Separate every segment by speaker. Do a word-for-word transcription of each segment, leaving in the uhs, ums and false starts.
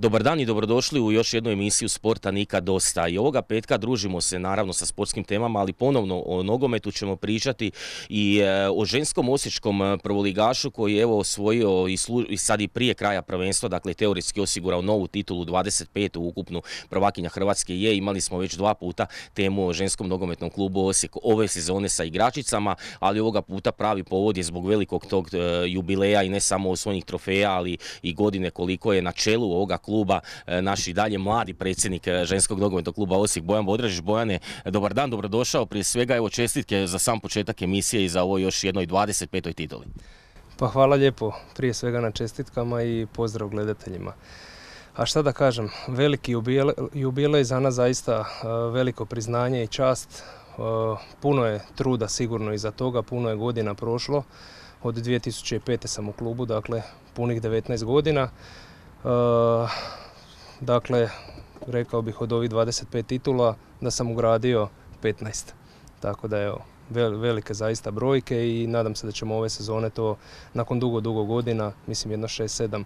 Speaker 1: Dobar dan i dobrodošli u još jednu emisiju Sporta nikad dosta. I ovoga petka družimo se naravno sa sportskim temama, ali ponovno o nogometu ćemo pričati i o ženskom osječkom prvoligašu koji je evo osvojio i, slu, i sad i prije kraja prvenstva, dakle teoretski osigurao novu titulu, dvadeset petu ukupnu prvakinja Hrvatske je. Imali smo već dva puta temu o ženskom nogometnom klubu Osijek ove sezone sa igračicama, ali ovoga puta pravi povod je zbog velikog tog jubileja i ne samo osvojenih trofeja, ali i godine koliko je na čelu ovoga kluba naš i dalje mladi predsjednik ženskog nogometnog kluba Osijek, Bojan Bodražić. Bojane, dobar dan, dobrodošao. Prije svega evo čestitke za sam početak emisije i za ovo još jednoj dvadeset petoj tituli.
Speaker 2: Pa hvala lijepo prije svega na čestitkama i pozdrav gledateljima. A šta da kažem, veliki jubilej za nas, zaista veliko priznanje i čast. Puno je truda sigurno iza toga, puno je godina prošlo. Od dvije tisuće pete sam u klubu, dakle punih devetnaest godina. Dakle, rekao bih od ovih dvadeset pet titula da sam ugradio petnaest. Tako da je velike zaista brojke i nadam se da ćemo ove sezone to nakon dugo, dugo godina, mislim jedno šest sedam,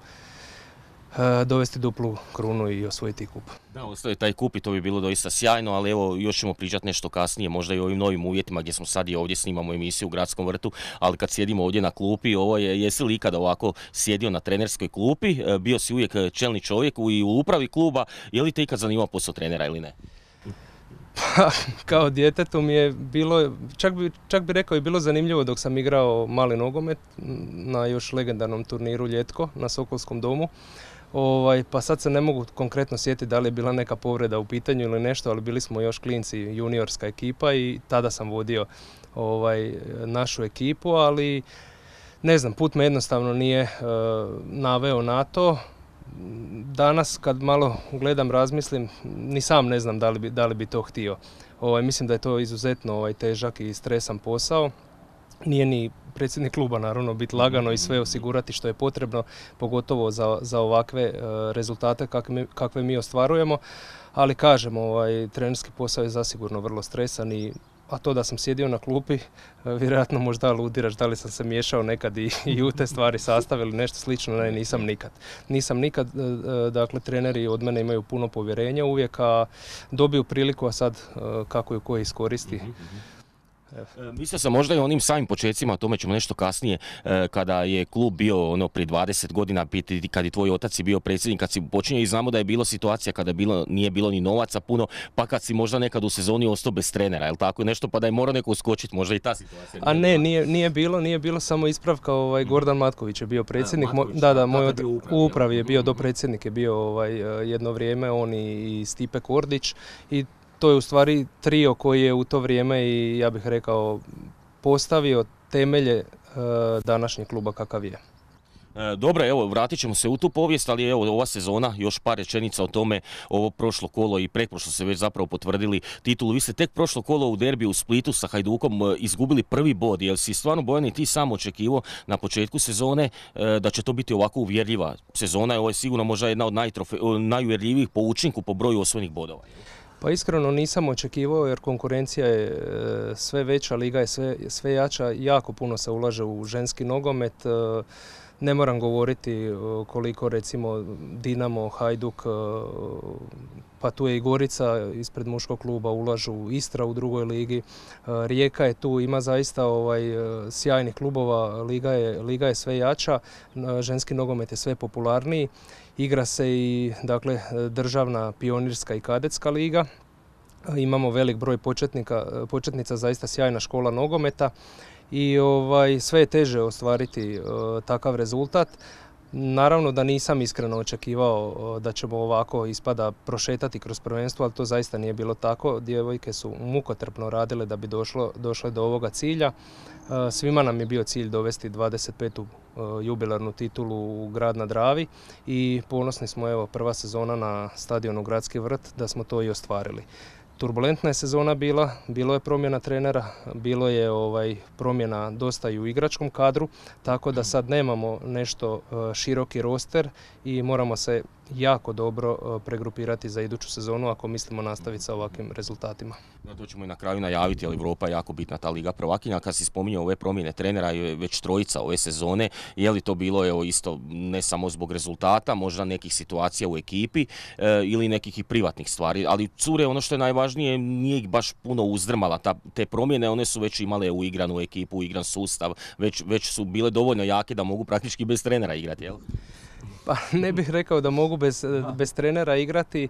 Speaker 2: dovesti duplu krunu i osvojiti kup.
Speaker 1: Da, ostaje taj kup i to bi bilo doista sjajno, ali evo još ćemo pričati nešto kasnije, možda i o ovim novim uvjetima gdje smo sad i ovdje snimamo emisiju u Gradskom vrtu, ali kad sjedimo ovdje na klupi, ovo je, jesi li ikada ovako sjedio na trenerskoj klupi, bio si uvijek čelni čovjek i u upravi kluba, je li te ikad zanimao posao trenera ili ne?
Speaker 2: Pa, kao djetetu mi je bilo, čak bi, čak bi rekao i bilo zanimljivo dok sam igrao mali nogomet na još legendarnom turniru Ljetko na Sokolskom domu. Ovaj, pa sad se ne mogu konkretno sjetiti da li je bila neka povreda u pitanju ili nešto, ali bili smo još klinci, juniorska ekipa i tada sam vodio ovaj, našu ekipu, ali ne znam, put me jednostavno nije uh, naveo na to. Danas kad malo gledam, razmislim, ni sam ne znam da li bi, da li bi to htio. Ovaj, mislim da je to izuzetno ovaj, težak i stresan posao. Nije ni predsjednik kluba naravno biti lagano i sve osigurati što je potrebno, pogotovo za, za ovakve uh, rezultate kakve mi, kakve mi ostvarujemo. Ali kažem, ovaj, trenerski posao je zasigurno vrlo stresan i a to da sam sjedio na klupi, vjerojatno možda aludiraš da li sam se miješao nekad i, i u te stvari sastavili nešto slično, ne, nisam nikad. Nisam nikad, dakle treneri od mene imaju puno povjerenja uvijek, a dobiju priliku, a sad kako ju ko iskoristi.
Speaker 1: E, mislio sam možda i onim samim početcima, o tome ćemo nešto kasnije, e, kada je klub bio ono prije dvadeset godina, kad je tvoj otac bio predsjednik, kad si počinio i znamo da je bilo situacija kada je bilo, nije bilo ni novaca puno, pa kad si možda nekad u sezoni ostao bez trenera, jel tako nešto, pa da je morao neko uskočiti, možda i ta situacija.
Speaker 2: A ne, nije, nije bilo, nije bilo samo ispravka, ovaj, Gordan Matković je bio predsjednik, a, Matković, da, da, moj od, u upravi, upravi je bio dopredsjednik, je bio ovaj, jedno vrijeme, on i, i Stipe Kordić i to je u stvari trio koji je u to vrijeme i ja bih rekao postavio temelje e, današnjeg kluba kakav je.
Speaker 1: E, dobro, evo, vratit ćemo se u tu povijest, ali evo, ova sezona, još par rečenica o tome, ovo prošlo kolo i pretprošlo se već zapravo potvrdili titulu. Vi ste tek prošlo kolo u derbiju u Splitu sa Hajdukom izgubili prvi bod, jer si stvarno, Bojan, i ti sam očekivao na početku sezone e, da će to biti ovako uvjerljiva sezona, ovo je sigurno možda jedna od najuvjerljivijih po učinku po broju osvojenih bodova.
Speaker 2: Pa iskreno nisam očekivao jer konkurencija je sve veća, liga je sve, sve jača, jako puno se ulaže u ženski nogomet. Ne moram govoriti koliko recimo Dinamo, Hajduk, pa tu je i Gorica ispred muškog kluba ulažu, Istra u drugoj ligi, Rijeka je tu, ima zaista ovaj, sjajnih klubova, liga je, liga je sve jača, ženski nogomet je sve popularniji. Igra se i dakle, državna, pionirska i kadetska liga. Imamo velik broj početnika, početnica, zaista sjajna škola nogometa i ovaj, sve je teže ostvariti uh, takav rezultat. Naravno da nisam iskreno očekivao uh, da ćemo ovako ispada prošetati kroz prvenstvo, ali to zaista nije bilo tako. Djevojke su mukotrpno radile da bi došlo, došle do ovoga cilja. Uh, svima nam je bio cilj dovesti dvadeset petu uh, jubilarnu titulu u grad na Dravi i ponosni smo, evo, prva sezona na stadionu Gradski vrt da smo to i ostvarili. Turbulentna je sezona bila, bilo je promjena trenera, bilo je ovaj, promjena dosta i u igračkom kadru, tako da sad nemamo nešto uh, široki roster i moramo se jako dobro pregrupirati za iduću sezonu ako mislimo nastaviti sa ovakvim rezultatima.
Speaker 1: No, to ćemo i na kraju najaviti, ali Europa je jako bitna, ta Liga prvakinja. Kad si spominjao ove promjene trenera i već trojica ove sezone, je li to bilo evo, isto ne samo zbog rezultata, možda nekih situacija u ekipi e, ili nekih i privatnih stvari, ali cure, ono što je najvažnije, nije ih baš puno uzdrmala. Ta, te promjene, one su već imale uigranu ekipu, uigran sustav, već, već su bile dovoljno jake da mogu praktički bez trenera igrati, jel?
Speaker 2: Pa ne bih rekao da mogu bez, bez trenera igrati,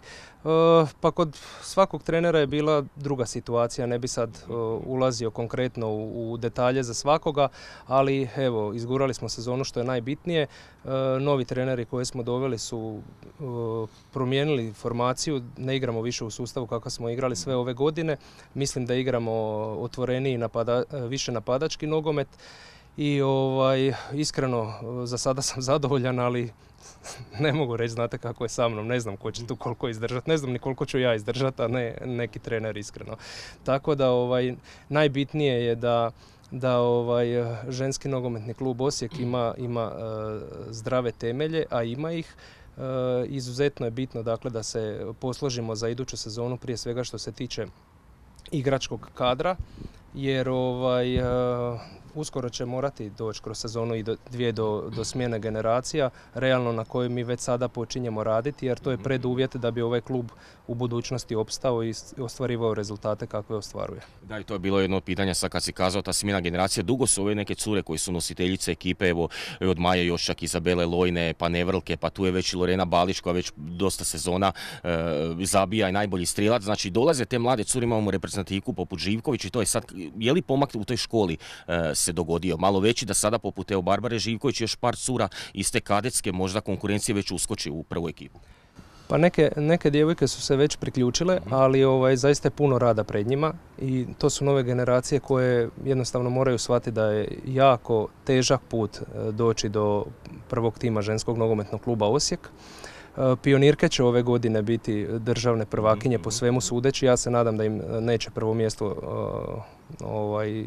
Speaker 2: pa kod svakog trenera je bila druga situacija, ne bi sad ulazio konkretno u, u detalje za svakoga, ali evo, izgurali smo sezonu što je najbitnije, novi treneri koje smo doveli su promijenili formaciju, ne igramo više u sustavu kako smo igrali sve ove godine, mislim da igramo otvoreniji, napada, više napadački nogomet i ovaj, iskreno za sada sam zadovoljan, ali ne mogu reći, znate kako je sa mnom, ne znam ko će tu koliko izdržati, ne znam ni koliko ću ja izdržati, a ne neki trener iskreno. Tako da ovaj, najbitnije je da, da ovaj, ženski nogometni klub Osijek ima, ima uh, zdrave temelje, a ima ih. Uh, izuzetno je bitno dakle, da se posložimo za iduću sezonu, prije svega što se tiče igračkog kadra, jer ovaj, uh, uskoro će morati doći kroz sezonu i do, dvije do, do smjene generacija, realno na kojoj mi već sada počinjemo raditi, jer to je preduvjet da bi ovaj klub u budućnosti opstao i ostvarivao rezultate kakve ostvaruje.
Speaker 1: Da, i to je bilo jedno od pitanja sad kad si kazao ta smjena generacija. Dugo su ove neke cure koji su nositeljice ekipe, evo od Maje još čak Izabele Lojne, pa Nevrlke, pa tu je već i Lorena Balić koja već dosta sezona e, zabija i najbolji strijelac. Znači dolaze te mlade cure, imamo reprezentativku poput Živković i to je sad, je li pomak u toj školi e, se dogodio malo veći da sada poput evo Barbare Živković još par cura iz te kadetske možda konkurencije već uskoči u prvu ekipu?
Speaker 2: Pa neke, neke djevojke su se već priključile, ali ovaj, zaista je puno rada pred njima i to su nove generacije koje jednostavno moraju shvatiti da je jako težak put doći do prvog tima ženskog nogometnog kluba Osijek. Pionirke će ove godine biti državne prvakinje po svemu sudeći. Ja se nadam da im neće prvo mjesto, ovaj,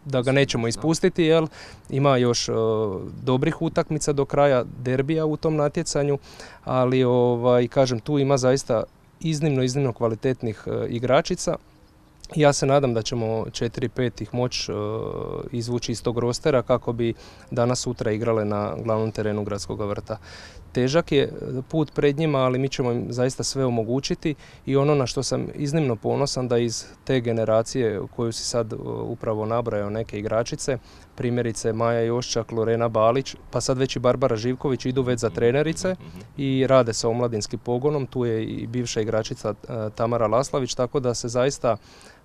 Speaker 2: da ga nećemo ispustiti, jer ima još dobrih utakmica do kraja, derbija u tom natjecanju, ali ovaj, kažem, tu ima zaista iznimno, iznimno kvalitetnih igračica. Ja se nadam da ćemo četiri pet ih moći izvući iz tog rostera kako bi danas sutra igrale na glavnom terenu Gradskog vrta. Težak je put pred njima, ali mi ćemo im zaista sve omogućiti i ono na što sam iznimno ponosan da iz te generacije koju si sad upravo nabrajao neke igračice, primjerice Maja Joščak, Lorena Balić, pa sad već i Barbara Živković idu već za trenerice i rade sa omladinskim pogonom, tu je i bivša igračica Tamara Laslavić, tako da se zaista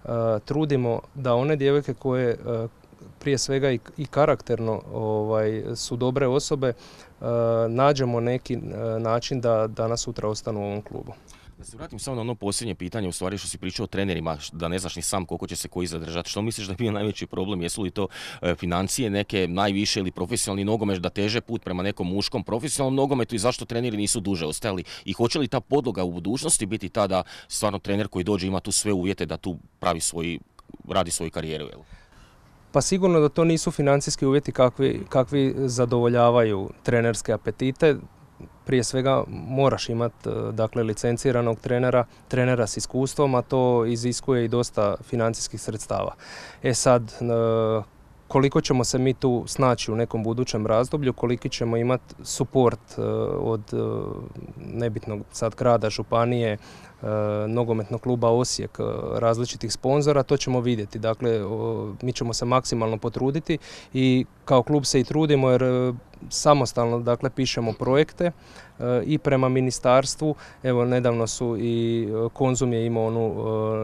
Speaker 2: uh, trudimo da one djevojke koje uh, prije svega i, i karakterno ovaj, su dobre osobe, uh, nađemo neki uh, način da danas sutra ostanu u ovom klubu.
Speaker 1: Da se vratim samo na ono posljednje pitanje, u stvari što si pričao o trenerima, da ne znaš ni sam koliko će se koji zadržati. Što misliš da je bio najveći problem? Jesu li to e, financije neke najviše ili profesionalni nogomet da teže put prema nekom muškom profesionalnom nogometu i zašto treneri nisu duže ostajali? I hoće li ta podloga u budućnosti biti ta da stvarno trener koji dođe ima tu sve uvjete da tu pravi svoj, radi svoju karijeru? Jel?
Speaker 2: Pa sigurno da to nisu financijski uvjeti kakvi, kakvi zadovoljavaju trenerske apetite. Prije svega moraš imati dakle, licenciranog trenera, trenera s iskustvom, a to iziskuje i dosta financijskih sredstava. E sad, koliko ćemo se mi tu snaći u nekom budućem razdoblju, koliki ćemo imati suport od nebitnog sad grada, županije, nogometnog kluba Osijek, različitih sponzora, to ćemo vidjeti. Dakle, mi ćemo se maksimalno potruditi i kao klub se i trudimo jer samostalno dakle, pišemo projekte i prema ministarstvu. Evo, nedavno su i Konzum je imao onu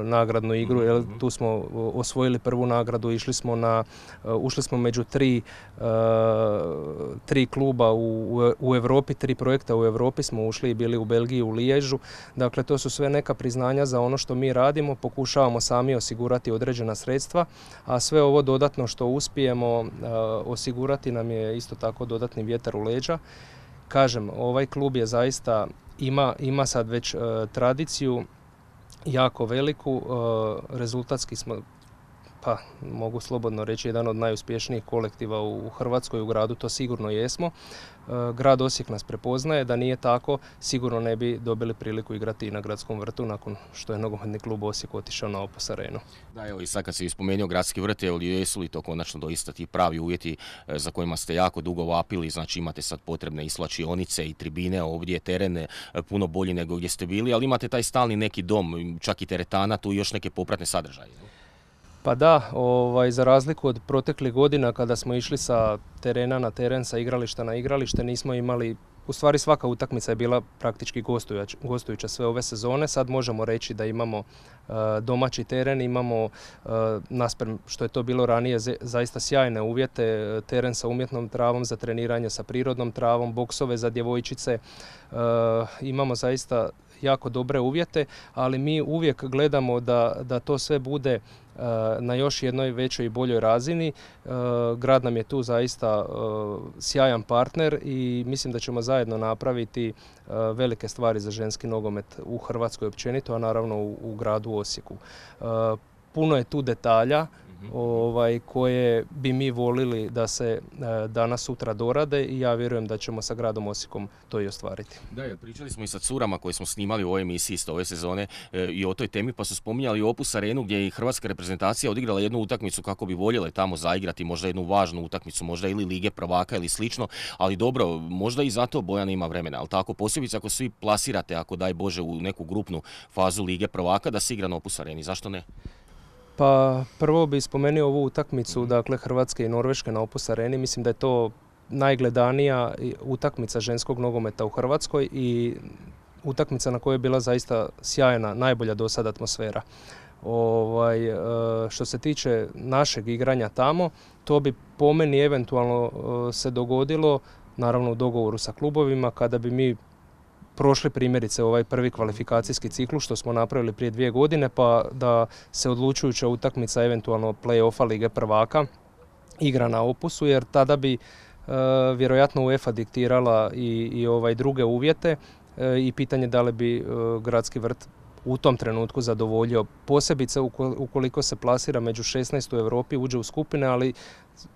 Speaker 2: nagradnu igru, jer tu smo osvojili prvu nagradu, išli smo na, ušli smo među tri, tri kluba u, u Europi, tri projekta u Europi smo ušli i bili u Belgiji, u Liježu. Dakle, to su sve neka priznanja za ono što mi radimo, pokušavamo sami osigurati određena sredstva, a sve ovo dodatno što uspijemo osigurati nam je isto tako dodatni vjetar u leđa. Kažem, ovaj klub je zaista, ima, ima sad već uh, tradiciju jako veliku, uh, rezultatski smo pa mogu slobodno reći, jedan od najuspješnijih kolektiva u Hrvatskoj, u gradu, to sigurno jesmo. Grad Osijek nas prepoznaje, da nije tako sigurno ne bi dobili priliku igrati i na Gradskom vrtu nakon što je nogometni klub Osijek otišao na Opus arenu.
Speaker 1: Da, evo i sad kad si spomenuo Gradski vrt, jesu li to konačno doista ti pravi uvjeti za kojima ste jako dugo vapili, znači imate sad potrebne i slačionice i tribine, ovdje je teren puno bolji nego gdje ste bili, ali imate taj stalni neki dom, čak i teretana, tu i još neke popratne sadržaje.
Speaker 2: Pa da, ovaj, za razliku od proteklih godina kada smo išli sa terena na teren, sa igrališta na igralište, nismo imali, u stvari svaka utakmica je bila praktički gostujuća, gostujuća sve ove sezone. Sad možemo reći da imamo uh, domaći teren, imamo uh, naspram što je to bilo ranije zaista sjajne uvjete, teren sa umjetnom travom za treniranje, sa prirodnom travom, boksove za djevojčice, uh, imamo zaista jako dobre uvjete, ali mi uvijek gledamo da, da to sve bude uh, na još jednoj većoj i boljoj razini. Uh, grad nam je tu zaista uh, sjajan partner i mislim da ćemo zajedno napraviti uh, velike stvari za ženski nogomet u Hrvatskoj općenito, a naravno u, u gradu Osijeku. Uh, puno je tu detalja ovaj, koje bi mi volili da se e, danas sutra dorade i ja vjerujem da ćemo sa gradom Osijekom to i ostvariti.
Speaker 1: Da, jer pričali smo i sa curama koje smo snimali u ovoj emisiji isto ove sezone e, i o toj temi, pa su spominjali Opus arenu gdje je i hrvatska reprezentacija odigrala jednu utakmicu kako bi voljele tamo zaigrati, možda jednu važnu utakmicu, možda ili Lige prvaka ili slično, ali dobro, možda i zato Bojana ima vremena, ali tako posebice ako svi plasirate, ako daj Bože u neku grupnu fazu Lige prvaka da se igra na Opus areni, zašto ne?
Speaker 2: Pa prvo bih spomenuo ovu utakmicu, dakle Hrvatske i Norveške na Opus areni. Mislim da je to najgledanija utakmica ženskog nogometa u Hrvatskoj i utakmica na kojoj je bila zaista sjajna, najbolja do sada atmosfera. Ovaj, što se tiče našeg igranja tamo, to bi po meni eventualno se dogodilo, naravno u dogovoru sa klubovima, kada bi mi prošli primjerice ovaj prvi kvalifikacijski ciklus što smo napravili prije dvije godine, pa da se odlučujuća utakmica eventualno play-offa Lige prvaka igra na Opusu, jer tada bi e, vjerojatno UEFA diktirala i, i ovaj druge uvjete e, i pitanje da li bi e, Gradski vrt u tom trenutku zadovoljio, posebice ukoliko se plasira među šesnaest u Europi, uđe u skupine, ali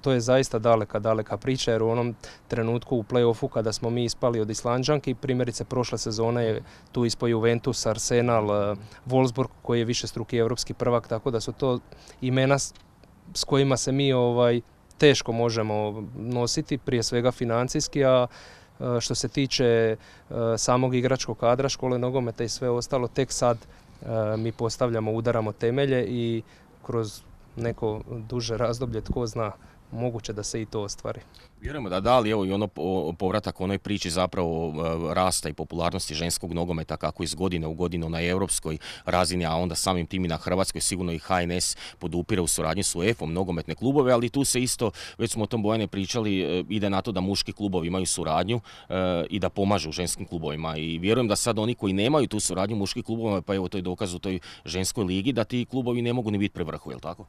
Speaker 2: to je zaista daleka, daleka priča, jer u onom trenutku u play-offu kada smo mi ispali od Islanđanki, primjerice prošle sezone je tu ispao Juventus, Arsenal, Wolfsburg koji je višestruki europski prvak, tako da su to imena s kojima se mi ovaj, teško možemo nositi, prije svega financijski, a što se tiče samog igračkog kadra, škole nogometa i sve ostalo, tek sad mi postavljamo, udaramo temelje i kroz neko duže razdoblje, tko zna, moguće da se i to ostvari.
Speaker 1: Vjerujemo da da, ali evo i ono povratak onoj priči zapravo rasta i popularnosti ženskog nogometa kako iz godine u godinu na europskoj razini, a onda samim tim i na hrvatskoj, sigurno i H N S podupire u suradnji s UEFA-om nogometne klubove, ali tu se isto, već smo o tom Bojane pričali, ide na to da muški klubovi imaju suradnju e, i da pomažu ženskim klubovima i vjerujem da sad oni koji nemaju tu suradnju muških klubova, pa evo to je dokaz u toj ženskoj ligi, da ti klubovi ne mogu ni biti pri vrhu, je li tako?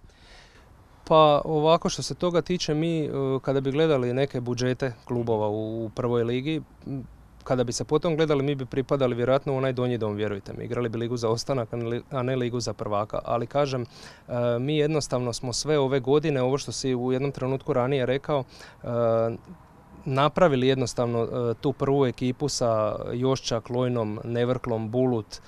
Speaker 2: Pa ovako što se toga tiče, mi kada bi gledali neke budžete klubova u prvoj ligi, kada bi se potom gledali, mi bi pripadali vjerojatno u onaj donji dom, vjerujte mi. Igrali bi ligu za ostanak, a ne ligu za prvaka. Ali kažem, mi jednostavno smo sve ove godine, ovo što si u jednom trenutku ranije rekao, napravili jednostavno tu prvu ekipu sa Joščak, Lojnom, Nevrklom, Bulut,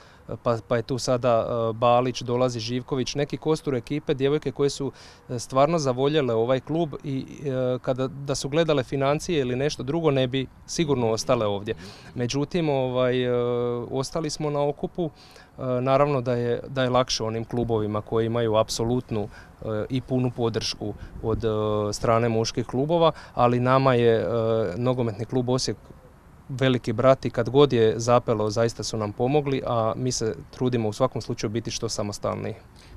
Speaker 2: Pa, pa je tu sada uh, Balić, dolazi Živković, neki kostur ekipe, djevojke koje su stvarno zavoljele ovaj klub i uh, kada da su gledale financije ili nešto drugo ne bi sigurno ostale ovdje. Međutim, ovaj, uh, ostali smo na okupu, uh, naravno da je, da je lakše onim klubovima koji imaju apsolutnu uh, i punu podršku od uh, strane muških klubova, ali nama je uh, nogometni klub Osijek veliki brat i kad god je zapelo zaista su nam pomogli, a mi se trudimo u svakom slučaju biti što samostalniji.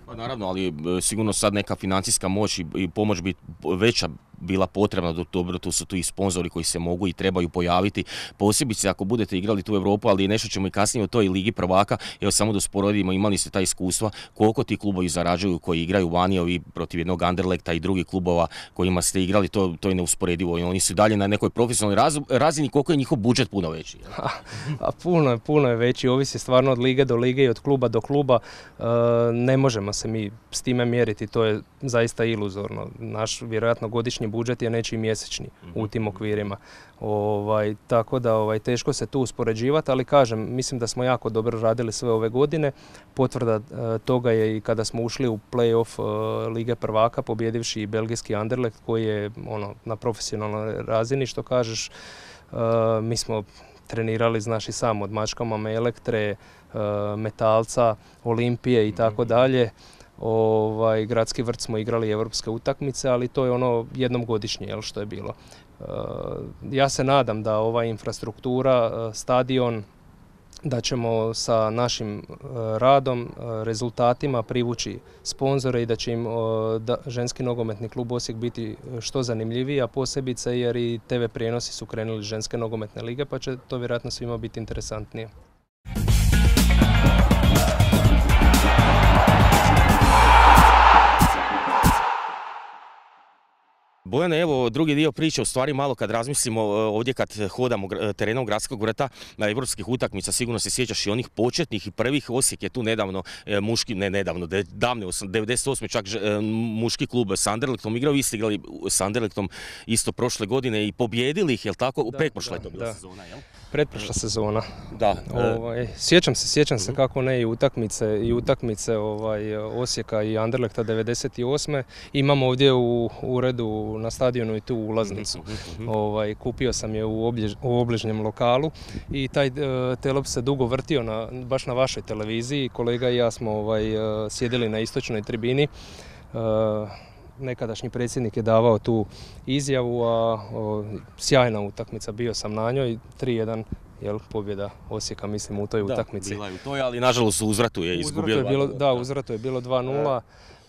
Speaker 1: Pa naravno, ali sigurno sad neka financijska moć i pomoć biti veća bila potrebna, dobro, tu su tu i sponzori koji se mogu i trebaju pojaviti, posebice ako budete igrali tu u Europu, ali nešto ćemo i kasnije o toj Ligi prvaka. Evo samo da usporedimo, imali ste ta iskustva, koliko ti klubovi zarađuju koji igraju vani, ovi protiv jednog Anderlekta i drugih klubova kojima ste igrali, to, to je neusporedivo i oni su dalje na nekoj profesionalnoj raz, razini, koliko je njihov budžet puno veći.
Speaker 2: A, a puno je, puno je veći, ovisi stvarno od lige do lige i od kluba do kluba, e, ne možemo se mi s time mjeriti, to je zaista iluzorno. Naš vjerojatno godišnji budžet je nečiji mjesečni u tim okvirima. Ovaj, tako da ovaj, teško se tu uspoređivati, ali kažem, mislim da smo jako dobro radili sve ove godine. Potvrda e, toga je i kada smo ušli u play-off e, Lige prvaka, pobjedivši i belgijski Anderlecht koji je ono, na profesionalnoj razini, što kažeš. E, mi smo trenirali, znaš i sam, od mačkama Elektre, e, Metalca, Olimpije i tako dalje. Ovaj, gradski vrt smo igrali europske utakmice, ali to je ono jednom godišnje, jel, što je bilo. E, ja se nadam da ova infrastruktura, stadion, da ćemo sa našim radom, rezultatima privući sponzore i da će im da, ženski nogometni klub Osijek biti što zanimljiviji, a posebice jer i te ve prijenosi su krenuli ženske nogometne lige, pa će to vjerojatno svima biti interesantnije.
Speaker 1: Bojane, evo drugi dio priče, u stvari malo kad razmislimo ovdje kad hodamo terenom gradskog vrta na europskih utakmica, sigurno se sjećaš i onih početnih i prvih. Osijek je tu nedavno, muški, ne nedavno, davne, devedeset osme čak muški klub s Anderlechtom igrao, vi ste igrali s Anderlechtom isto prošle godine i pobjedili ih, jel tako? U pretprošle je to bila sezona, jel?
Speaker 2: Pretprošla sezona.
Speaker 1: Da.
Speaker 2: Ovaj, sjećam se, sjećam se kako ne i utakmice i utakmice ovaj, Osijeka i Anderlechta devedeset osme. Imam ovdje u uredu na stadionu i tu ulaznicu. Ovaj, kupio sam je u, obljež, u obližnjem lokalu i taj uh, telop se dugo vrtio na, baš na vašoj televiziji. Kolega i ja smo ovaj, uh, sjedili na istočnoj tribini. Uh, Nekadašnji predsjednik je davao tu izjavu, a o, sjajna utakmica, bio sam na njoj, tri jedan, jel, pobjeda Osijeka, mislim, u toj
Speaker 1: da,
Speaker 2: utakmici.
Speaker 1: Da, bila je u toj, ali nažalost u uzvratu je izgubio.
Speaker 2: Da, u uzvratu je bilo dva nula,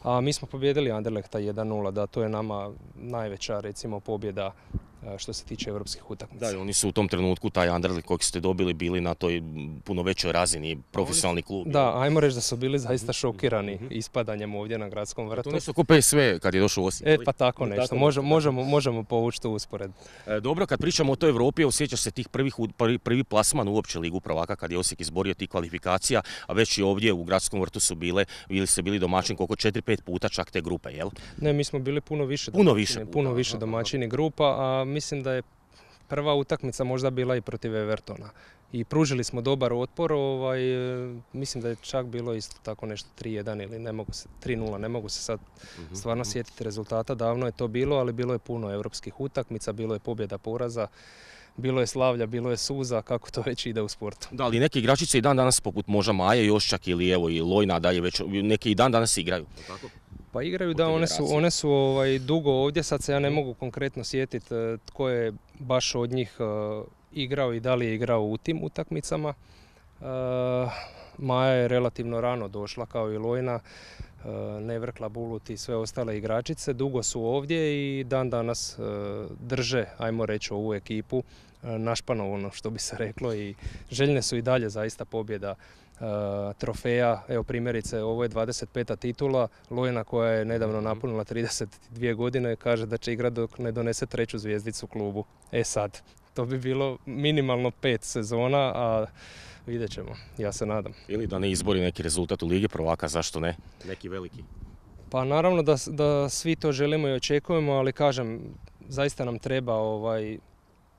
Speaker 2: a mi smo pobjedili Anderlechta jedan nula, da, to je nama najveća, recimo, pobjeda što se tiče europskih utakmica.
Speaker 1: Da, oni su u tom trenutku, taj Anderlecht kojeg ste dobili, bili na toj puno većoj razini, profesionalni klub.
Speaker 2: Da, ajmo reći da su bili zaista šokirani ispadanjem ovdje na gradskom vrtu.
Speaker 1: To nisu ko pe es ve kad je došao u Osijek.
Speaker 2: E, pa tako nešto, tako, možemo, možemo, možemo povući tu usporedbu.
Speaker 1: E, dobro, kad pričamo o toj Europi, osjećaš se tih prvih, prvi, prvi plasman uopće Ligu prvaka kad je Osijek izborio tih kvalifikacija, a već i ovdje u gradskom vrtu su bile, bili ste bili domaćin koliko četiri pet puta čak te grupe, jel?
Speaker 2: Ne, mi smo bili puno više
Speaker 1: puno
Speaker 2: domaćini,
Speaker 1: više, puta,
Speaker 2: puno više domaćini grupa, a mislim da je prva utakmica možda bila i protiv Evertona. I pružili smo dobar otpor, ovaj, mislim da je čak bilo isto tako nešto tri jedan ili ne mogu se, tri nula, ne mogu se sad stvarno sjetiti rezultata, davno je to bilo, ali bilo je puno europskih utakmica, bilo je pobjeda poraza, bilo je slavlja, bilo je suza, kako to već ide u sportu.
Speaker 1: Da, ali neki igračice i dan danas poput možda Maje Joščak ili evo i Lojna dalje već, neki i dan danas igraju, tako?
Speaker 2: Pa igraju, da, one su, one su ovaj, dugo ovdje, sad se ja ne mogu konkretno sjetiti tko je baš od njih uh, igrao i da li je igrao u tim utakmicama. Uh, Maja je relativno rano došla kao i Lojna, uh, Nevrkla, Bulut i sve ostale igračice. Dugo su ovdje i dan danas uh, drže, ajmo reći, ovu ekipu uh, našpano, ono što bi se reklo, i željne su i dalje zaista pobjeda. Uh, trofeja, evo primjerice, ovo je dvadeset peta titula, Lojna koja je nedavno napunila trideset dvije godine kaže da će igrati dok ne donese treću zvijezdicu klubu. E sad, to bi bilo minimalno pet sezona, a vidjet ćemo, ja se nadam.
Speaker 1: Ili da ne izbori neki rezultat u Ligi prvaka, zašto ne? Neki veliki?
Speaker 2: Pa naravno da, da svi to želimo i očekujemo, ali kažem, zaista nam treba ovaj,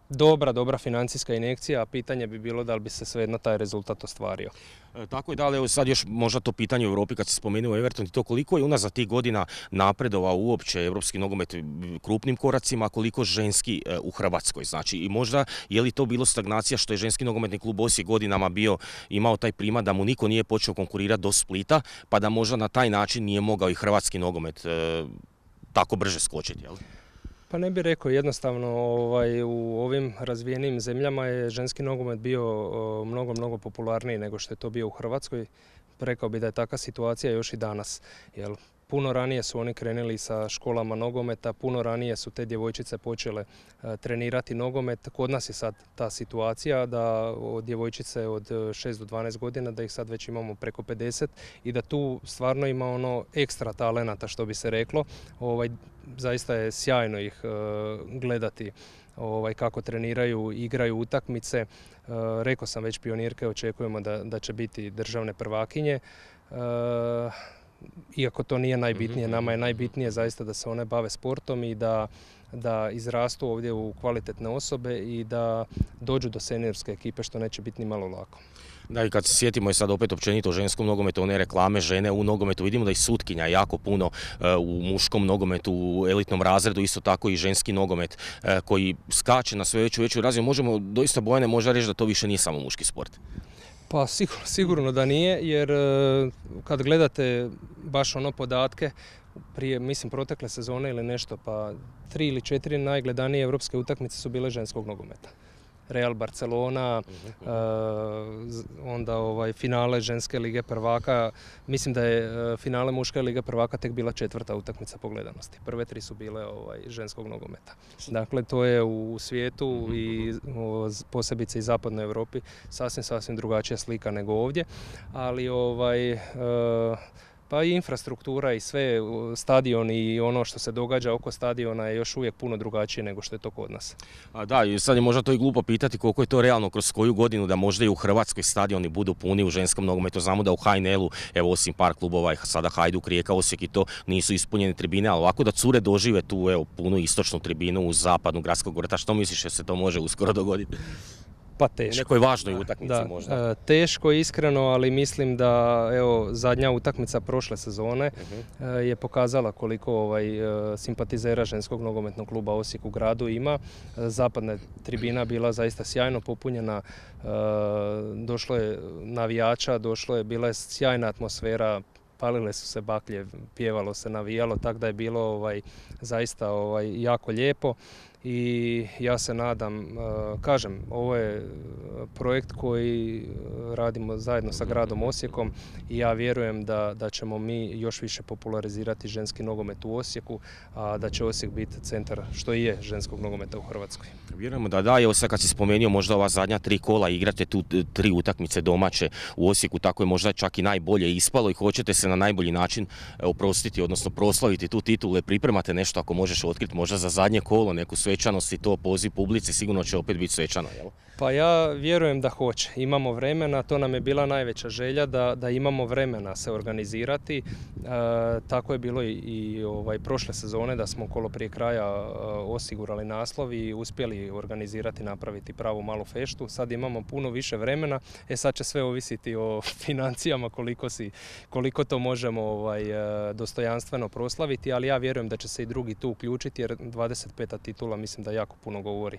Speaker 2: dobra, dobra financijska injekcija, a pitanje bi bilo da li bi se svejedno taj rezultat ostvario.
Speaker 1: E, tako je, da, ali evo sad još možda to pitanje u Europi kad se spomenuo Everton i to koliko je unazad tih godina napredovao uopće europski nogomet krupnim koracima, a koliko ženski e, u Hrvatskoj, znači i možda je li to bilo stagnacija što je ženski nogometni klub Osijek godinama bio, imao taj primat da mu niko nije počeo konkurirati do Splita, pa da možda na taj način nije mogao i hrvatski nogomet e, tako brže skočiti, jel?
Speaker 2: Pa ne bih rekao, jednostavno ovaj, u ovim razvijenim zemljama je ženski nogomet bio o, mnogo, mnogo popularniji nego što je to bio u Hrvatskoj. Rekao bih da je takva situacija još i danas. Jel, puno ranije su oni krenuli sa školama nogometa, puno ranije su te djevojčice počele trenirati nogomet. Kod nas je sad ta situacija da djevojčice od šest do dvanaest godina, da ih sad već imamo preko pedeset i da tu stvarno ima ono ekstra talenata, što bi se reklo. Ovaj, zaista je sjajno ih gledati ovaj, kako treniraju, igraju utakmice. E, rekao sam već, pionirke očekujemo da, da će biti državne prvakinje. E, iako to nije najbitnije, nama je najbitnije zaista da se one bave sportom i da, da izrastu ovdje u kvalitetne osobe i da dođu do seniorske ekipe, što neće biti ni malo lako.
Speaker 1: Da, i kad se sjetimo i sad opet općenito o ženskom nogometu, one reklame žene u nogometu, vidimo da i sutkinja jako puno uh, u muškom nogometu, u elitnom razredu, isto tako i ženski nogomet uh, koji skače na sve veću veću razinu. Možemo doista, Bojane, možda reći da to više nije samo muški sport.
Speaker 2: Pa sigurno, sigurno da nije, jer uh, kad gledate baš ono podatke, prije, mislim, protekle sezone ili nešto, pa tri ili četiri najgledanije europske utakmice su bile ženskog nogometa. Real Barcelona, uh, onda ovaj, finale ženske lige prvaka. Mislim da je uh, finale muške lige prvaka tek bila četvrta utakmica po gledanosti. Prve tri su bile ovaj, ženskog nogometa. Dakle, to je u svijetu i o, posebice i zapadnoj Europi sasvim, sasvim drugačija slika nego ovdje. Ali ovaj... Uh, Pa i infrastruktura i sve, stadion i ono što se događa oko stadiona je još uvijek puno drugačije nego što je to kod nas.
Speaker 1: A da, i sad je možda to i glupo pitati koliko je to realno kroz koju godinu da možda i u Hrvatskoj stadioni budu puni u ženskom nogometu. Znamo da u H N L-u, evo osim par klubova, sada Hajduk, Rijeka, Osijek i to nisu ispunjene tribine, ali ovako da cure dožive tu evo, punu istočnu tribinu uz zapadnu gradskog vrta, što misliš da se to može uskoro dogoditi?
Speaker 2: Pa teško.
Speaker 1: U nekoj važnoj utakmici
Speaker 2: da,
Speaker 1: možda.
Speaker 2: Teško, iskreno, ali mislim da evo, zadnja utakmica prošle sezone uh-huh. je pokazala koliko ovaj, simpatizera ženskog nogometnog kluba Osijek u gradu ima. Zapadna tribina bila zaista sjajno popunjena, došlo je navijača, došlo je, bila je sjajna atmosfera, palile su se baklje, pjevalo se, navijalo, tako da je bilo ovaj, zaista ovaj, jako lijepo. I ja se nadam, kažem, ovo je projekt koji radimo zajedno sa gradom Osijekom i ja vjerujem da, da ćemo mi još više popularizirati ženski nogomet u Osijeku, a da će Osijek biti centar, što i je, ženskog nogometa u Hrvatskoj.
Speaker 1: Vjerujemo da da, evo sad kad si spomenuo možda ova zadnja tri kola, igrate tu tri utakmice domaće u Osijeku, tako je možda čak i najbolje ispalo i hoćete se na najbolji način oprostiti, odnosno proslaviti tu titulu, pripremate nešto ako možeš otkriti možda za zadnje kolo, neku svečanost i to poziv publici, sigurno će opet biti svečano, jel?
Speaker 2: Pa ja vjerujem da hoće. Imamo vremena, to nam je bila najveća želja da, da imamo vremena se organizirati. E, tako je bilo i, i ovaj, prošle sezone da smo kolo prije kraja e, osigurali naslov i uspjeli organizirati, napraviti pravu malu feštu. Sad imamo puno više vremena, e sad će sve ovisiti o financijama koliko, si, koliko to možemo ovaj, dostojanstveno proslaviti, ali ja vjerujem da će se i drugi tu uključiti jer dvadeset peta titula mislim da jako puno govori.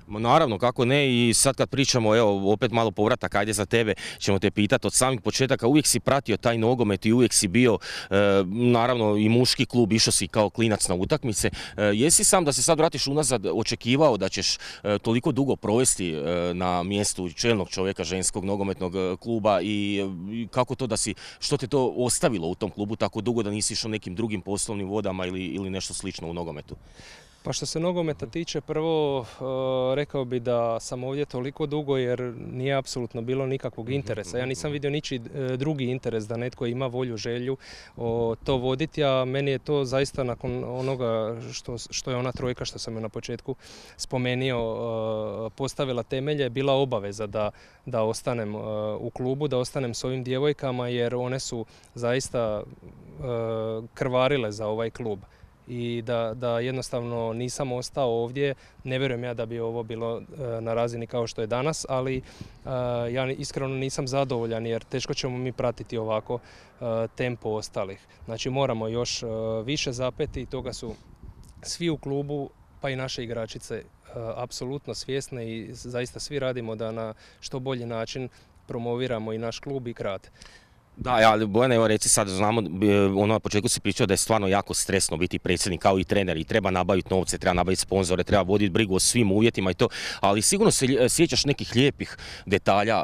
Speaker 1: Naravno, kako ne, i sad kad pričamo, evo, opet malo povratak, ajde za tebe, ćemo te pitati od samih početaka, uvijek si pratio taj nogomet i uvijek si bio, e, naravno, i muški klub, išao si kao klinac na utakmice. E, jesi sam da se sad vratiš unazad očekivao da ćeš e, toliko dugo provesti e, na mjestu čelnog čovjeka ženskog nogometnog kluba i, i kako to da si, što te to ostavilo u tom klubu tako dugo da nisi išao nekim drugim poslovnim vodama ili, ili nešto slično u nogometu?
Speaker 2: Pa što se nogometa tiče, prvo rekao bi da sam ovdje toliko dugo jer nije apsolutno bilo nikakvog interesa. Ja nisam vidio ničiji drugi interes da netko ima volju, želju to voditi, a meni je to zaista nakon onoga što, što je ona trojka što sam je na početku spomenuo postavila temelje, bila obaveza da, da ostanem u klubu, da ostanem s ovim djevojkama jer one su zaista krvarile za ovaj klub. I da, da jednostavno nisam ostao ovdje, ne vjerujem ja da bi ovo bilo na razini kao što je danas, ali ja iskreno nisam zadovoljan jer teško ćemo mi pratiti ovako tempo ostalih. Znači moramo još više zapeti i toga su svi u klubu pa i naše igračice apsolutno svjesne i zaista svi radimo da na što bolji način promoviramo i naš klub i grad.
Speaker 1: Da, ali Bojane, evo reci sad, znamo, ono na početku si pričao da je stvarno jako stresno biti predsjednik kao i trener i treba nabaviti novce, treba nabaviti sponzore, treba voditi brigu o svim uvjetima i to, ali sigurno se sjećaš nekih lijepih detalja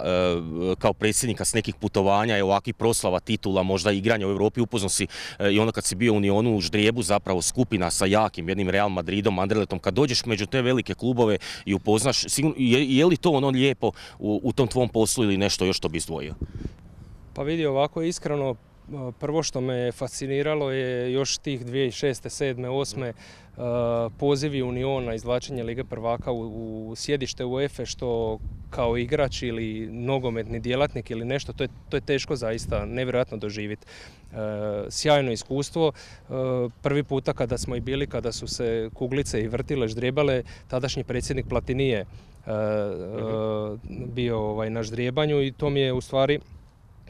Speaker 1: kao predsjednika s nekih putovanja i ovakvih proslava, titula, možda igranja u Europi, upoznao si i ono kad si bio u Unionu u ždrijebu zapravo skupina sa jakim jednim Real Madridom, Anderletom, kad dođeš među te velike klubove i upoznaš, sigurno, je, je li to ono lijepo u, u tom tvom poslu ili nešto još što bi izdvojio?
Speaker 2: Pa vidi, ovako iskreno, prvo što me fasciniralo je još tih dvije tisuće šeste, sedme, osme pozivi Uniona, izvlačenje Lige prvaka u, u sjedište UEFA što kao igrač ili nogometni djelatnik ili nešto, to je, to je teško zaista, nevjerojatno doživjeti. E, sjajno iskustvo. E, prvi puta kada smo i bili, kada su se kuglice i vrtile, ždrijebale, tadašnji predsjednik Platinije e, e, bio ovaj, na ždrijebanju i to mi je u stvari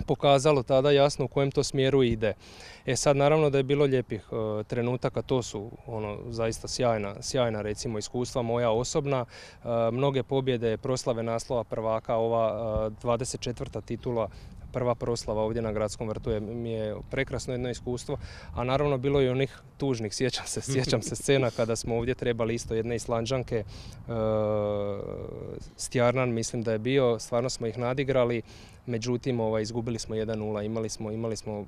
Speaker 2: pokazalo tada jasno u kojem to smjeru ide. E sad naravno da je bilo lijepih e, trenutaka, to su ono zaista sjajna, sjajna recimo iskustva moja osobna, e, mnoge pobjede, proslave naslova prvaka, ova e, dvadeset četvrta titula, prva proslava ovdje na Gradskom vrtu je, mi je prekrasno jedno iskustvo, a naravno bilo je onih tužnih, sjećam se, sjećam se scena kada smo ovdje trebali isto jedne Islanđanke, e, Stjarnan mislim da je bio, stvarno smo ih nadigrali, međutim ovaj, izgubili smo jedan nula, imali smo, imali smo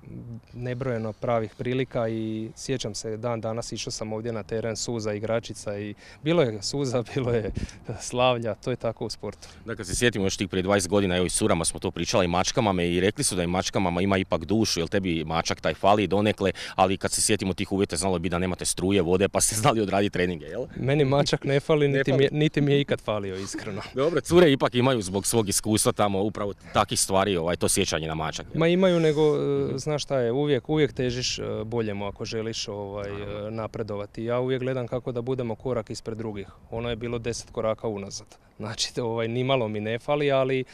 Speaker 2: nebrojeno pravih prilika i sjećam se dan danas išao sam ovdje na teren, suza igračica i bilo je suza, bilo je slavlja, to je tako u sportu.
Speaker 1: Da, kad se sjetimo još tih prije dvadeset godina, evo i surama smo to pričali, i mačkama i rekli su da i mačkama ima ipak dušu, jer tebi mačak taj fali donekle, ali kad se sjetimo tih uvjeta znalo bi da nemate struje, vode, pa ste znali odraditi treninge, jel?
Speaker 2: Meni mačak ne fali, ne niti, fali. Mi je, niti mi je ikad falio, iskreno.
Speaker 1: Dobro, cure ipak imaju zbog svog iskustva tamo upravo takih stvari, ovaj, to sjećanje na mačak. Jel?
Speaker 2: Ma imaju, nego, mm-hmm. znaš šta je, uvijek, uvijek težiš boljemu ako želiš ovaj, napredovati. Ja uvijek gledam kako da budemo korak ispred drugih. Ono je bilo deset koraka unazad. Znači, ovaj, nimalo mi ne fali, ali e,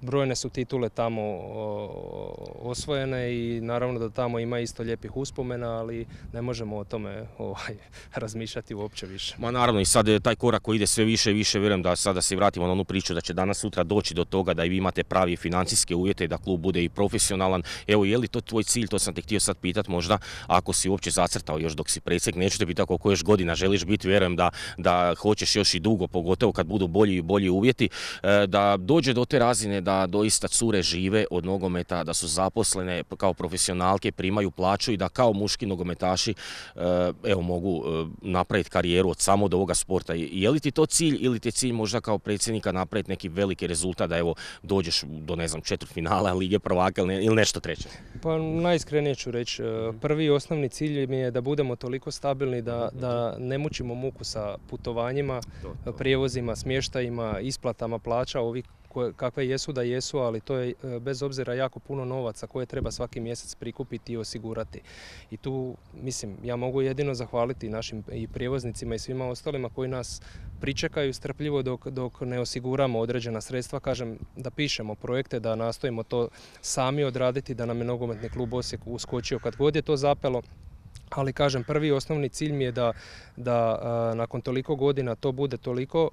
Speaker 2: brojne su titule tamo o, osvojene i naravno da tamo ima isto lijepih uspomena, ali ne možemo o tome ovaj, razmišljati uopće više.
Speaker 1: Ma naravno i sad taj korak koji ide sve više i više, vjerujem da sada se vratimo na onu priču da će danas sutra doći do toga da i vi imate pravi financijske uvjete i da klub bude i profesionalan. Evo, je li to tvoj cilj, to sam te htio sad pitat možda, ako si uopće zacrtao još dok si predsjednik, neću te pitati koliko još godina želiš biti, vjerujem da, da hoćeš još i dugo, pogotovo kad budu bolji i bolji uvjeti, da dođe do te razine da doista cure žive od nogometa, da su zaposlene kao profesionalke, primaju plaću i da kao muški nogometaši evo, mogu napraviti karijeru od samo do ovoga sporta. Je li ti to cilj ili ti je cilj možda kao predsjednika napraviti neki veliki rezultat da evo dođeš do ne znam četvrtfinala Lige prvaka ili nešto treće?
Speaker 2: Pa najiskrenije ću reći, prvi i osnovni cilj mi je da budemo toliko stabilni da, da ne mučimo muku sa putovanjima, to, to. prijevozima, smještajima, isplatama plaća, ovi kakve jesu da jesu, ali to je bez obzira jako puno novaca koje treba svaki mjesec prikupiti i osigurati. I tu, mislim, ja mogu jedino zahvaliti našim i prijevoznicima i svima ostalima koji nas pričekaju strpljivo dok, dok ne osiguramo određena sredstva, kažem da pišemo projekte, da nastojimo to sami odraditi, da nam je nogometni klub Osijek uskočio kad god je to zapelo. Ali kažem, prvi osnovni cilj mi je da, da a, nakon toliko godina to bude toliko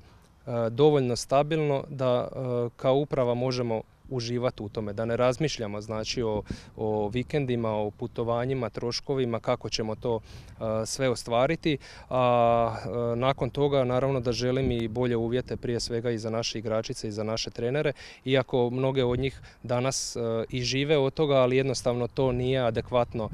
Speaker 2: a, dovoljno stabilno da a, kao uprava možemo uživati u tome, da ne razmišljamo znači o, o vikendima, o putovanjima, troškovima, kako ćemo to uh, sve ostvariti, a uh, nakon toga naravno da želim i bolje uvjete prije svega i za naše igračice i za naše trenere, iako mnoge od njih danas uh, i žive od toga, ali jednostavno to nije adekvatno uh,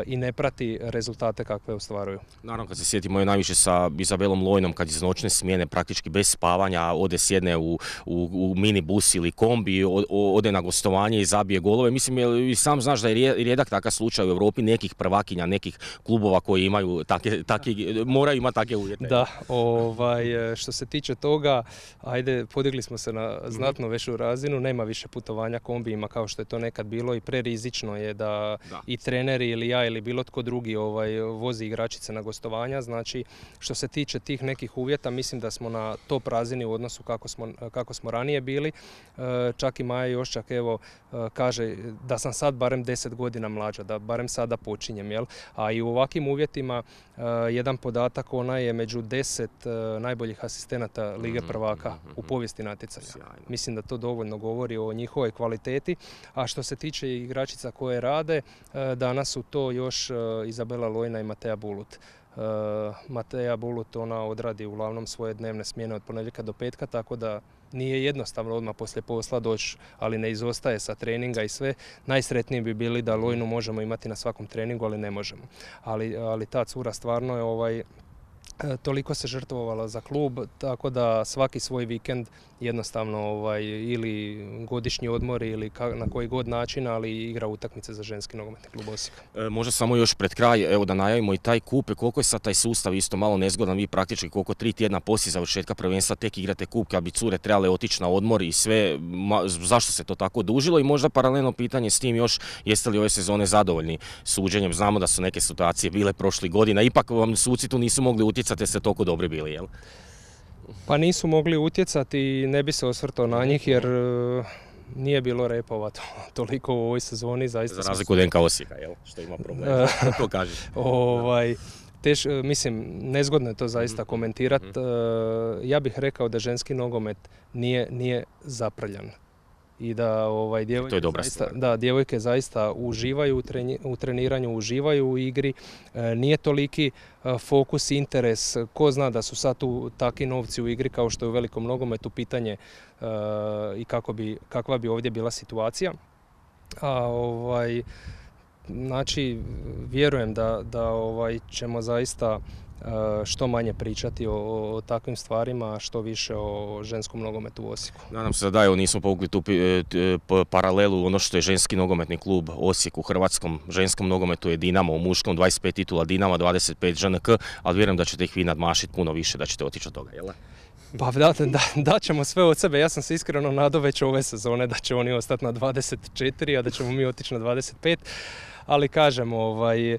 Speaker 2: i ne prati rezultate kakve ostvaruju.
Speaker 1: Naravno kad se sjetimo je najviše sa Izabelom Lojnom kad iz noćne smjene praktički bez spavanja ode sjedne u, u, u minibus ili kombi, ode na gostovanje i zabije golove. Mislim, i sam znaš da je rijedak takav slučaj u Europi nekih prvakinja, nekih klubova koji imaju take, take, moraju imati takve uvjete.
Speaker 2: Da, ovaj, što se tiče toga, ajde, podigli smo se na znatno veću razinu, nema više putovanja kombijima kao što je to nekad bilo i prerizično je da, da. i treneri ili ja ili bilo tko drugi ovaj, vozi igračice na gostovanja. Znači, što se tiče tih nekih uvjeta, mislim da smo na top razini u odnosu kako smo, kako smo ranije bili. Čak i čak i Maja Joščak evo kaže da sam sad barem deset godina mlađa, da barem sada počinjem, jel? A i u ovakvim uvjetima jedan podatak, ona je među deset najboljih asistenata Lige prvaka u povijesti natjecanja. Mislim da to dovoljno govori o njihovoj kvaliteti, a što se tiče igračica koje rade, danas su to još Izabela Lojna i Mateja Bulut. Mateja Bulut, ona odradi uglavnom svoje dnevne smjene od ponedjeljka do petka, tako da nije jednostavno odmah poslije posla doći, ali ne izostaje sa treninga i sve. Najsretniji bi bili da Lojnu možemo imati na svakom treningu, ali ne možemo. Ali, ali ta cura stvarno je ovaj, toliko se žrtvovala za klub, tako da svaki svoj vikend jednostavno ovaj, ili godišnji odmor ili ka, na koji god način, ali igra utakmice za ženski nogometni klub Osijek.
Speaker 1: E, možda samo još pred kraj, evo da najavimo i taj kup, koliko je sad taj sustav isto malo nezgodan, vi praktički koliko tri tjedna poslije završetka prvenstva tek igrate kup, kad bi cure trebale otići na odmor i sve, ma, zašto se to tako dužilo i možda paralelno pitanje s tim još, jeste li ove sezone zadovoljni suđenjem, znamo da su neke situacije bile prošlih godina, ipak vam suci tu nisu mogli utjecati jer ste toliko dobri bili, jel?
Speaker 2: Pa nisu mogli utjecati i ne bi se osvrtao na njih jer nije bilo repova toliko u ovoj sezoni. Zaista
Speaker 1: za razliku od en ka Osijeka, jel? Što ima problem, to kažeš.
Speaker 2: ovaj, teš, mislim, nezgodno je to zaista komentirati. Ja bih rekao da ženski nogomet nije, nije zaprljan. I da ovaj, djevojke, zaista, da, djevojke zaista uživaju u treniranju, uživaju u igri. E, nije toliki e, fokus, interes. Ko zna da su sad tu takvi novci u igri kao što je u velikom nogometu, pitanje e, i kako bi, kakva bi ovdje bila situacija. A, ovaj, znači, vjerujem da, da ovaj, ćemo zaista što manje pričati o, o takvim stvarima, što više o ženskom nogometu u Osijeku.
Speaker 1: Nadam se da evo nismo povukli tu paralelu, ono što je ženski nogometni klub Osijek u hrvatskom ženskom nogometu je Dinamo, u muškom dvadeset pet titula Dinama, dvadeset pet žen ka, ali vjerujem da ćete ih vi nadmašiti puno više, da ćete otići od toga, jel?
Speaker 2: Pa da, da, da ćemo sve od sebe. Ja sam se iskreno nadao već ove sezone da će oni ostati na dvadeset četiri, a da ćemo mi otići na dvadeset pet. Ali kažem, ovaj,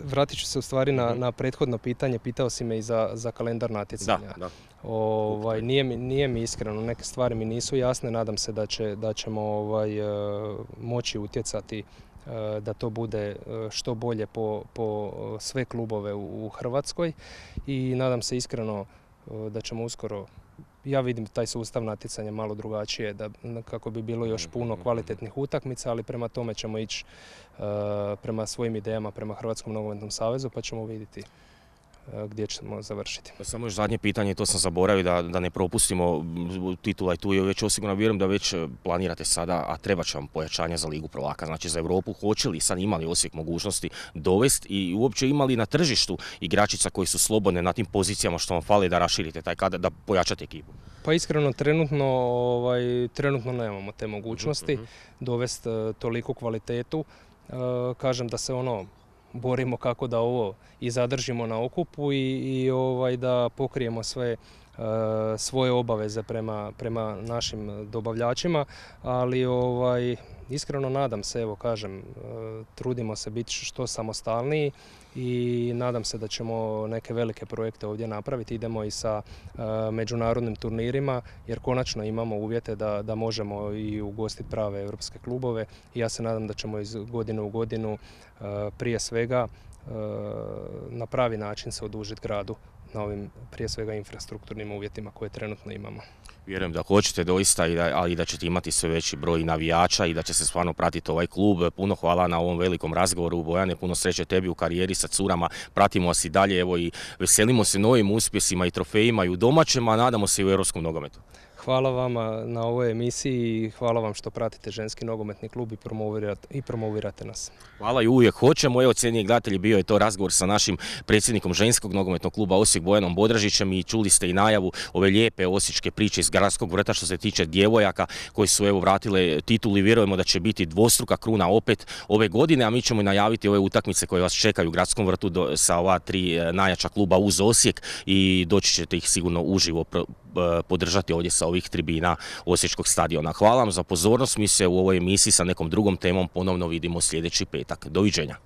Speaker 2: vratit ću se u stvari na, na prethodno pitanje, pitao si me i za, za kalendar natjecanja.
Speaker 1: Da, da.
Speaker 2: Ovaj, nije, mi, nije mi iskreno, neke stvari mi nisu jasne, nadam se da, će, da ćemo ovaj, moći utjecati da to bude što bolje po, po sve klubove u, u Hrvatskoj i nadam se iskreno da ćemo uskoro, ja vidim taj sustav natjecanja malo drugačije, da, kako bi bilo još puno kvalitetnih utakmica, ali prema tome ćemo ići uh, prema svojim idejama, prema Hrvatskom nogometnom savezu, pa ćemo vidjeti uh, gdje ćemo završiti.
Speaker 1: Samo još zadnje pitanje, to sam zaboravio da, da ne propustimo, titula i tu je već osigurno, vjerujem da već planirate sada, a treba će vam pojačanje za Ligu prvaka, znači za Europu, hoće li sad imali Osijek mogućnosti dovesti i uopće imali na tržištu igračica koji su slobodne na tim pozicijama što vam fali da raširite taj kada, da pojačate ekipu?
Speaker 2: Pa iskreno, trenutno, ovaj, trenutno nemamo te mogućnosti uh-huh. dovesti uh, toliku kvalitetu. Uh, kažem da se ono borimo kako da ovo i zadržimo na okupu i, i ovaj, da pokrijemo sve uh, svoje obaveze prema, prema našim dobavljačima, ali ovaj, iskreno nadam se, evo kažem, uh, trudimo se biti što samostalniji i nadam se da ćemo neke velike projekte ovdje napraviti. Idemo i sa uh, međunarodnim turnirima jer konačno imamo uvjete da, da možemo i ugostiti prave europske klubove i ja se nadam da ćemo iz godine u godinu uh, prije svega uh, na pravi način se odužiti gradu na ovim prije svega infrastrukturnim uvjetima koje trenutno imamo.
Speaker 1: Vjerujem da hoćete doista, ali i da ćete imati sve veći broj navijača i da će se stvarno pratiti ovaj klub. Puno hvala na ovom velikom razgovoru, Bojane, puno sreće tebi u karijeri sa curama. Pratimo vas i dalje, evo i veselimo se novim uspjesima i trofejima i u domaćem, a nadamo se i u europskom nogometu.
Speaker 2: Hvala vama na ovoj emisiji i hvala vam što pratite ženski nogometni klub i promovirate, i promovirate nas.
Speaker 1: Hvala i uvijek hoćemo. Evo, cijenjeni gledatelji, bio je to razgovor sa našim predsjednikom ženskog nogometnog kluba Osijek, Bojanom Bodražićem i čuli ste i najavu ove lijepe osječke priče iz gradskog vrta što se tiče djevojaka koji su evo vratile titulu i vjerujemo da će biti dvostruka kruna opet ove godine, a mi ćemo i najaviti ove utakmice koje vas čekaju u gradskom vrtu do, sa ova tri najjača kluba uz Osijek i doći ćete ih sigurno uživo podržati ovdje sa ovih tribina Osječkog stadiona. Hvala vam za pozornost, mi se u ovoj emisiji sa nekom drugom temom ponovno vidimo sljedeći petak. Doviđenja.